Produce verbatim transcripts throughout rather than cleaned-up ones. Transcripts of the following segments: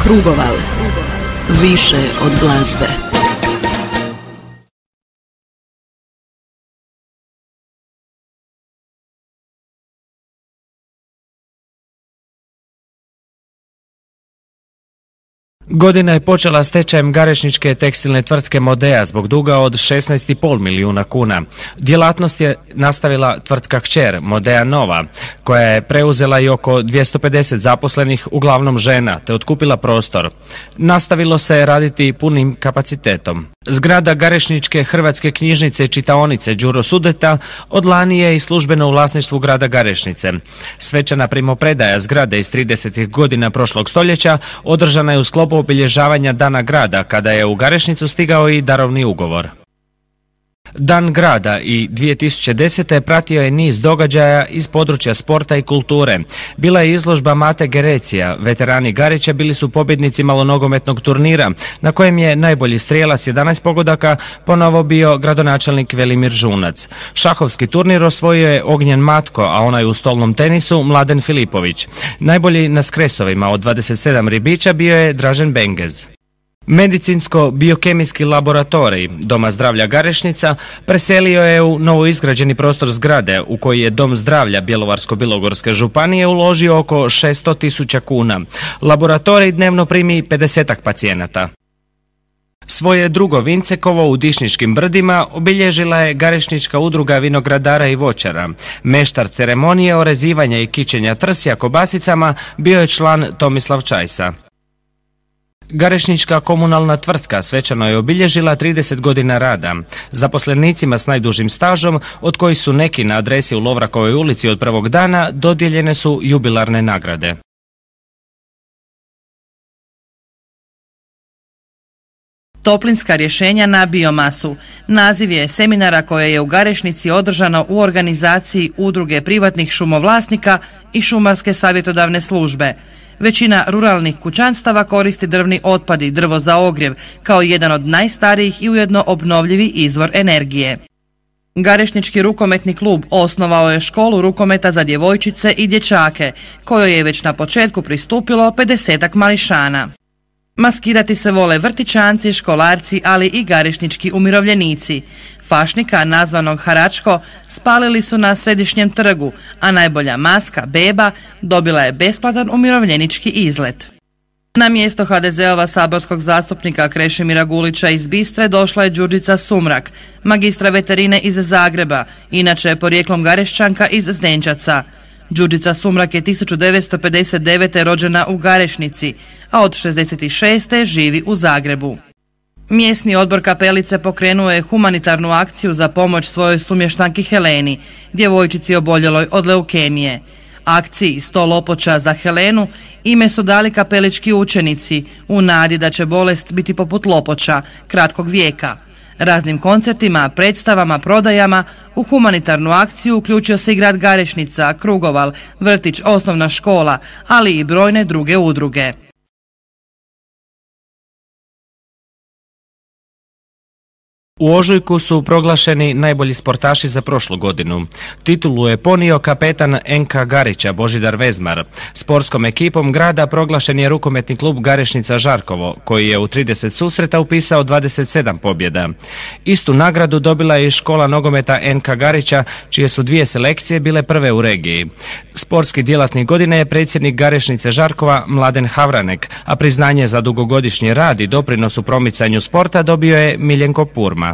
Krugoval. Više od glazbe. Godina je počela stečajem garešničke tekstilne tvrtke Modea zbog duga od šesnaest zarez pet milijuna kuna. Djelatnost je nastavila tvrtka kćer Modea Nova, koja je preuzela i oko dvjesto pedeset zaposlenih, uglavnom žena, te otkupila prostor. Nastavilo se raditi punim kapacitetom. Zgrada garešničke Hrvatske knjižnice i čitaonice Đuro Sudeta od lani je i službeno u vlasništvu grada Garešnice. Svečana primopredaja zgrade iz tridesetih godina prošlog stoljeća održana je u sklopu obilježavanja Dana grada, kada je u Garešnicu stigao i darovni ugovor. Dan grada i dvije tisuće desete. pratio je niz događaja iz područja sporta i kulture. Bila je izložba Mate Gerecija. Veterani Garića bili su pobjednici malonogometnog turnira, na kojem je najbolji strijelac jedanaest pogodaka ponovo bio gradonačelnik Velimir Žunac. Šahovski turnir osvojio je Ognjen Matko, a onaj u stolnom tenisu Mladen Filipović. Najbolji na skresovima od dvadeset sedam ribića bio je Dražen Bengez. Medicinsko-biokemijski laboratorij Doma zdravlja Garešnica preselio je u novoizgrađeni prostor zgrade u koji je Dom zdravlja Bjelovarsko-bilogorske županije uložio oko šesto tisuća kuna. Laboratorij dnevno primi pedesetak pacijenata. Svoje drugo Vincekovo u Dišničkim brdima obilježila je Garešnička udruga vinogradara i voćara. Meštar ceremonije orezivanja i kićenja trsja kobasicama bio je član Tomislav Čajsa. Garešnička komunalna tvrtka svečano je obilježila trideset godina rada. Zaposlenicima s najdužim stažom, od kojih su neki na adresi u Lovrakovoj ulici od prvog dana, dodijeljene su jubilarne nagrade. Toplinska rješenja na biomasu. Naziv je seminara koje je u Garešnici održano u organizaciji Udruge privatnih šumovlasnika i Šumarske savjetodavne službe. Većina ruralnih kućanstava koristi drvni otpad i drvo za ogrjev kao jedan od najstarijih i ujedno obnovljivi izvor energije. Garešnički rukometni klub osnovao je školu rukometa za djevojčice i dječake, kojoj je već na početku pristupilo pedesetak mališana. Maskirati se vole vrtićanci, školarci, ali i garešnički umirovljenici. Fašnika, nazvanog Haračko, spalili su na Središnjem trgu, a najbolja maska, beba, dobila je besplatan umirovljenički izlet. Na mjesto ha de ze-ova saborskog zastupnika Krešimira Gulića iz Bistre došla je Đurđica Sumrak, magistra veterine iz Zagreba, inače je porijeklom Gareščanka iz Zdenčaca. Đurđica Sumrak je tisuću devetsto pedeset devete. rođena u Garešnici, a od šezdeset šeste. živi u Zagrebu. Mjesni odbor Kapelice pokrenuo je humanitarnu akciju za pomoć svojoj sumještanki Heleni, djevojčici oboljeloj od leukemije. Akciji sto lopoča za Helenu ime su dali kapelički učenici u nadi da će bolest biti poput lopoča, kratkog vijeka. Raznim koncertima, predstavama, prodajama u humanitarnu akciju uključio se i grad Garešnica, Krugoval, vrtić, osnovna škola, ali i brojne druge udruge. U ožujku su proglašeni najbolji sportaši za prošlu godinu. Titulu je ponio kapetan en ka Garića Božidar Vezmar. Sportskom ekipom grada proglašen je rukometni klub Garešnica Žarkovo, koji je u trideset susreta upisao dvadeset sedam pobjeda. Istu nagradu dobila je i škola nogometa en ka Garića, čije su dvije selekcije bile prve u regiji. Sportski djelatnik godine je predsjednik Garešnice Žarkova Mladen Havranek, a priznanje za dugogodišnji rad i doprinos u promicanju sporta dobio je Miljenko Purma.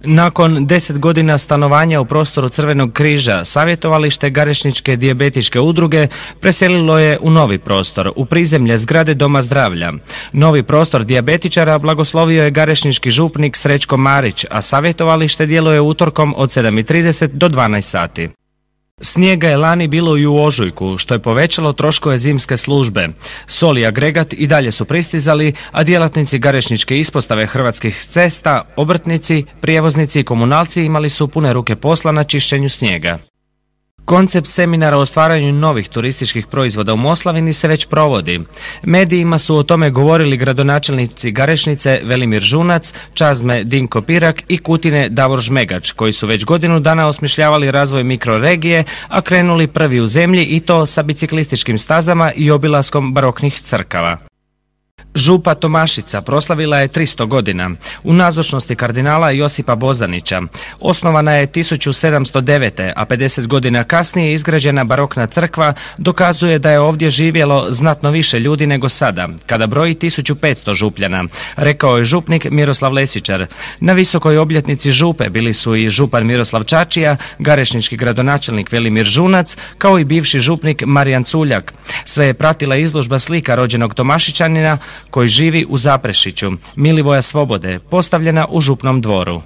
Nakon deset godina stanovanja u prostoru Crvenog križa, savjetovalište Garešničke dijabetičke udruge preselilo je u novi prostor, u prizemlje zgrade Doma zdravlja. Novi prostor dijabetičara blagoslovio je garešnički župnik Srećko Marić, a savjetovalište djeluje utorkom od sedam i trideset do dvanaest sati. Snijega je lani bilo i u ožujku, što je povećalo troškove zimske službe. Sol i agregat i dalje su pristizali, a djelatnici Garešničke ispostave Hrvatskih cesta, obrtnici, prijevoznici i komunalci imali su pune ruke posla na čišćenju snijega. Koncept seminara o stvaranju novih turističkih proizvoda u Moslavini se već provodi. Medijima su o tome govorili gradonačelnici Garešnice Velimir Žunac, Čazme Dinko Pirak i Kutine Davor Žmegač, koji su već godinu dana osmišljavali razvoj mikroregije, a krenuli prvi u zemlji i to sa biciklističkim stazama i obilaskom baroknih crkava. Župa Tomašica proslavila je tristo godina. U nazočnosti kardinala Josipa Bozanića. Osnovana je tisuću sedamsto devete. a pedeset godina kasnije izgrađena barokna crkva dokazuje da je ovdje živjelo znatno više ljudi nego sada, kada broji tisuću petsto župljana, rekao je župnik Miroslav Lesičar. Na visokoj obljetnici župe bili su i župan Miroslav Čačija, garešnički gradonačelnik Velimir Žunac, kao i bivši župnik Marijan Culjak. Sve je pratila izložba slika rođenog Tomašićanina koji živi u Zaprešiću, Milivoja Svobode, postavljena u župnom dvoru.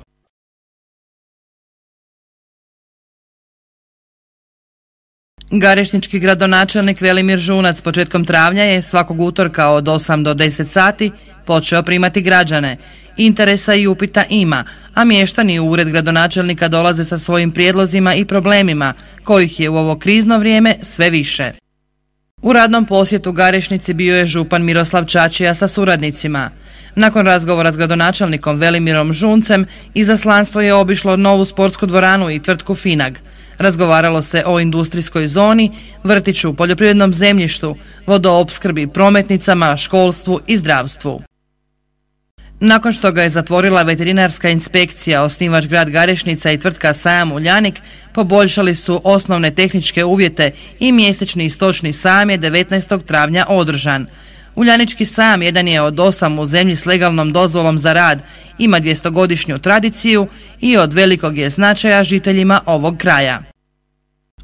Garešnički gradonačelnik Velimir Žunac početkom travnja je svakog utorka od osam do deset sati počeo primati građane. Interesa i upita ima, a mještani u ured gradonačelnika dolaze sa svojim prijedlozima i problemima, kojih je u ovo krizno vrijeme sve više. U radnom posjetu Garešnici bio je župan Miroslav Čačija sa suradnicima. Nakon razgovora s gradonačelnikom Velimirom Žuncem, izaslanstvo je obišlo novu sportsku dvoranu i tvrtku Finag. Razgovaralo se o industrijskoj zoni, vrtiću, poljoprivrednom zemljištu, vodoopskrbi, prometnicama, školstvu i zdravstvu. Nakon što ga je zatvorila veterinarska inspekcija, osnivač grad Garešnica i tvrtka Sajam Uljanik poboljšali su osnovne tehničke uvjete i mjesečni stočni sajam je devetnaestog travnja održan. Uljanički sajam jedan je od osam u zemlji s legalnom dozvolom za rad, ima dvjestogodišnju tradiciju i od velikog je značaja žiteljima ovog kraja.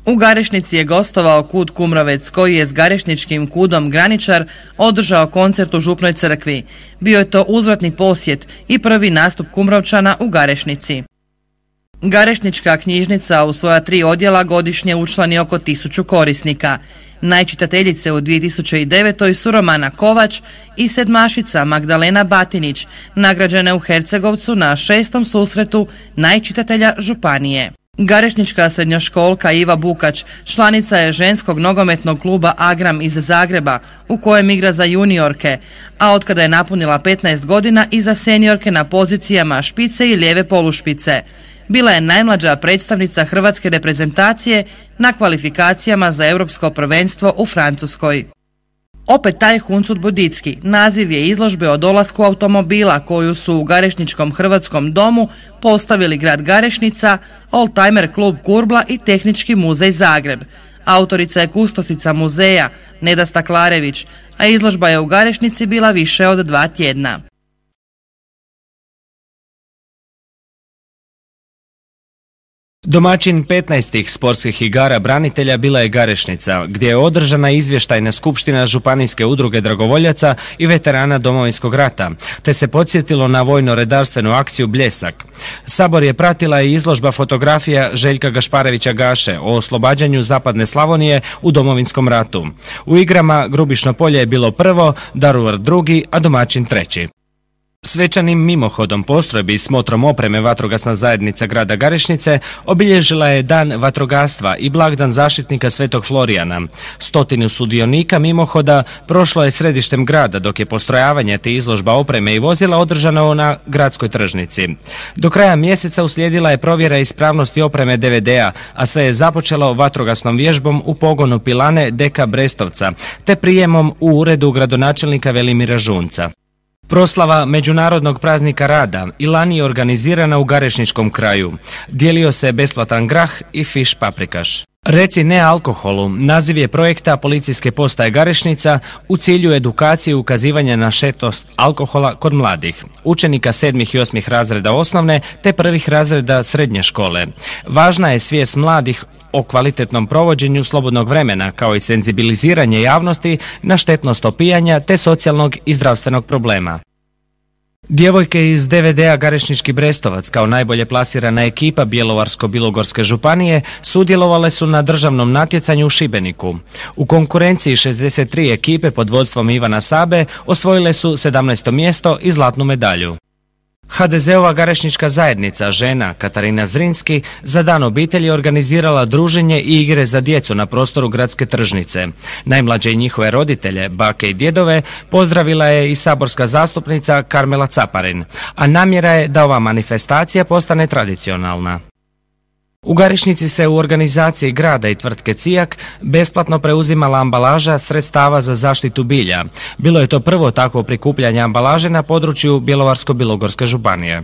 U Garešnici je gostovao Kud Kumrovec, koji je s garešničkim Kudom Graničar održao koncert u župnoj crkvi. Bio je to uzvratni posjet i prvi nastup Kumrovčana u Garešnici. Garešnička knjižnica u svoja tri odjela godišnje učlani oko tisuću korisnika. Najčitateljice u dvije tisuće devetoj su Romana Kovač i sedmašica Magdalena Batinić, nagrađene u Hercegovcu na šestom susretu najčitatelja županije. Garešnička srednjoškolka Iva Bukač članica je ženskog nogometnog kluba Agram iz Zagreba, u kojem igra za juniorke, a otkada je napunila petnaest godina i za seniorke na pozicijama špice i lijeve polušpice. Bila je najmlađa predstavnica hrvatske reprezentacije na kvalifikacijama za europsko prvenstvo u Francuskoj. Opet taj Huncut Budicki, naziv je izložbe o dolasku automobila koju su u Garešničkom hrvatskom domu postavili grad Garešnica, Oldtimer klub Kurbla i Tehnički muzej Zagreb. Autorica je kustosica muzeja Neda Staklarević, a izložba je u Garešnici bila više od dva tjedna. Domaćin petnaestih sportskih igara branitelja bila je Garešnica, gdje je održana izvještajna skupština Županijske udruge dragovoljaca i veterana Domovinskog rata, te se podsjetilo na vojno-redarstvenu akciju Bljesak. Sabor je pratila i izložba fotografija Željka Gašparevića Gaše o oslobađanju Zapadne Slavonije u Domovinskom ratu. U igrama Grubišno polje je bilo prvo, Daruvar drugi, a domaćin treći. Svečanim mimohodom postrojbi i smotrom opreme vatrogasna zajednica grada Garešnice obilježila je Dan vatrogastva i blagdan zaštitnika Svetog Florijana. Stotinu sudionika mimohoda prošlo je središtem grada, dok je postrojavanje te izložba opreme i vozila održano na gradskoj tržnici. Do kraja mjeseca uslijedila je provjera ispravnosti opreme D V D-a, a sve je započelo vatrogasnom vježbom u pogonu pilane Deka Brestovca, te prijemom u uredu gradonačelnika Velimira Žunca. Proslava Međunarodnog praznika rada i lani je organizirana u Garešničkom kraju. Dijelio se besplatan grah i fiš paprikaš. Reci ne alkoholu naziv je projekta Policijske postaje Garešnica u cilju edukacije i ukazivanja na štetnost alkohola kod mladih, učenika sedmih i osmih razreda osnovne te prvih razreda srednje škole. Važna je svijest mladih o kvalitetnom provođenju slobodnog vremena, kao i senzibiliziranje javnosti na štetnost opijanja te socijalnog i zdravstvenog problema. Djevojke iz D V D-a Garešnički Brestovac kao najbolje plasirana ekipa Bjelovarsko-bilogorske županije sudjelovale su na državnom natjecanju u Šibeniku. U konkurenciji šezdeset tri ekipe pod vodstvom Ivana Sabe osvojile su sedamnaesto mjesto i zlatnu medalju. H D Z-ova Garešnička zajednica žena Katarina Zrinski za Dan obitelji organizirala druženje i igre za djecu na prostoru gradske tržnice. Najmlađe i njihove roditelje, bake i djedove, pozdravila je i saborska zastupnica Karmela Caparin, a namjera je da ova manifestacija postane tradicionalna. U Garešnici se u organizaciji grada i tvrtke Cijak besplatno preuzimala ambalaža sredstava za zaštitu bilja. Bilo je to prvo takvo prikupljanje ambalaže na području Bjelovarsko-bilogorske županije.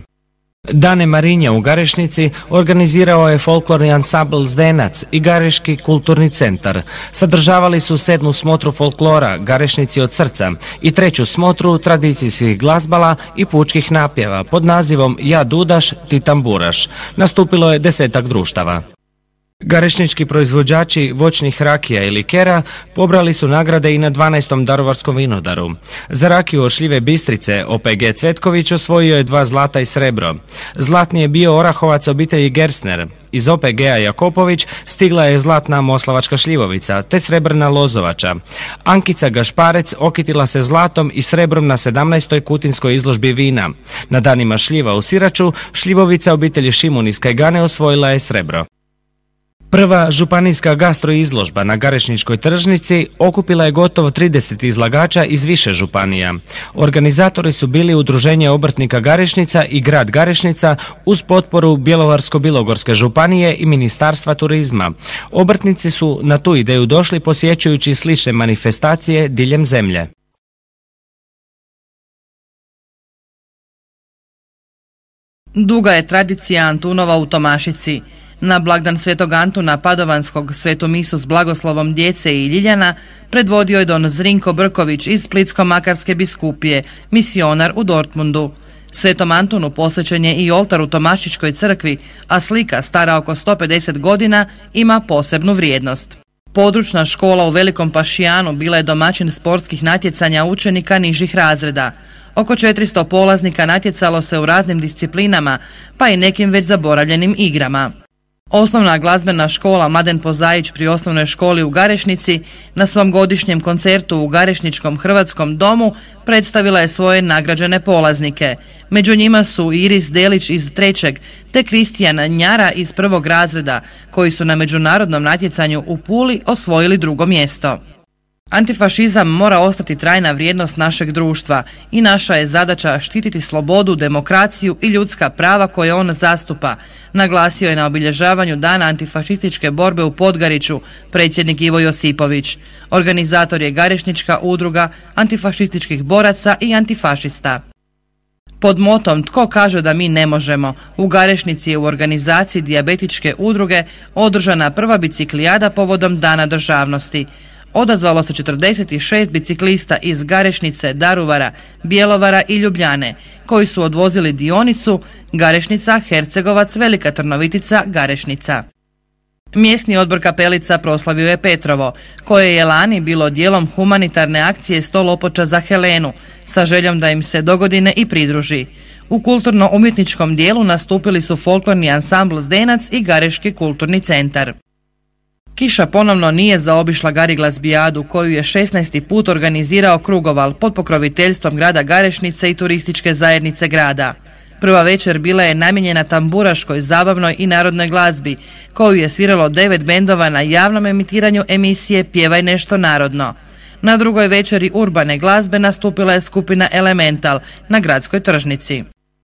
Dane Marinja u Garešnici organizirao je folklorni ansambl Zdenac i Gareški kulturni centar. Sadržavali su sedmu smotru folklora Garešnici od srca i treću smotru tradicijskih glazbala i pučkih napjeva pod nazivom Ja dudaš, ti tamburaš. Nastupilo je desetak društava. Garešnički proizvođači voćnih rakija i likera pobrali su nagrade i na dvanaestom Daruvarskom vinodaru. Za rakiju od šljive Bistrice O P G Cvetković osvojio je dva zlata i srebro. Zlatni je bio orahovac obitelji Gersner. Iz O P G-a Jakopović stigla je zlatna moslavačka šljivovica te srebrna lozovača. Ankica Gašparec okitila se zlatom i srebrom na sedamnaestoj kutinskoj izložbi vina. Na danima šljiva u Siraču šljivovica obitelji Šimun iz Kajgane osvojila je srebro. Prva županijska gastroizložba na Garešničkoj tržnici okupila je gotovo trideset izlagača iz više županija. Organizatori su bili Udruženje obrtnika Garešnica i grad Garešnica uz potporu Bjelovarsko-bilogorske županije i Ministarstva turizma. Obrtnici su na tu ideju došli posjećujući slične manifestacije diljem zemlje. Duga je tradicija Antunova u Tomašici. Na blagdan Svetog Antuna Padovanskog svetu misu s blagoslovom djece i Ljiljana predvodio je don Zrinko Brković iz Splitsko-makarske biskupije, misionar u Dortmundu. Svetom Antunu posvećen je i oltar u Tomašičkoj crkvi, a slika stara oko sto pedeset godina ima posebnu vrijednost. Područna škola u Velikom Pašijanu bila je domaćin sportskih natjecanja učenika nižih razreda. Oko četiristo polaznika natjecalo se u raznim disciplinama, pa i nekim već zaboravljenim igrama. Osnovna glazbena škola Mladen Pozajić pri osnovnoj školi u Garešnici na svom godišnjem koncertu u Garešničkom hrvatskom domu predstavila je svoje nagrađene polaznike. Među njima su Iris Delić iz trećeg te Kristijan Njara iz prvog razreda, koji su na međunarodnom natjecanju u Puli osvojili drugo mjesto. Antifašizam mora ostati trajna vrijednost našeg društva i naša je zadaća štititi slobodu, demokraciju i ljudska prava koje on zastupa, naglasio je na obilježavanju Dana antifašističke borbe u Podgariću predsjednik Ivo Josipović. Organizator je Garešnička udruga antifašističkih boraca i antifašista. Pod motom Tko kaže da mi ne možemo, u Garešnici je u organizaciji dijabetičke udruge održana prva biciklijada povodom Dana državnosti. Odazvalo se četrdeset šest biciklista iz Garešnice, Daruvara, Bjelovara i Ljubljane, koji su odvozili dionicu Garešnica, Hercegovac, Velika Trnovitica, Garešnica. Mjesni odbor Kapelica proslavio je Petrovo, koje je lani bilo dijelom humanitarne akcije sto lopoča za Helenu, sa željom da im se dogodine i pridruži. U kulturno-umjetničkom dijelu nastupili su folklorni ansambl Zdenac i Gareški kulturni centar. Kiša ponovno nije zaobišla Gari glazbijadu, koju je šesnaesti put organizirao Krugoval pod pokroviteljstvom grada Garešnice i turističke zajednice grada. Prva večer bila je namijenjena tamburaškoj, zabavnoj i narodnoj glazbi, koju je sviralo devet bendova na javnom emitiranju emisije Pjevaj nešto narodno. Na drugoj večeri urbane glazbe nastupila je skupina Elemental na gradskoj tržnici.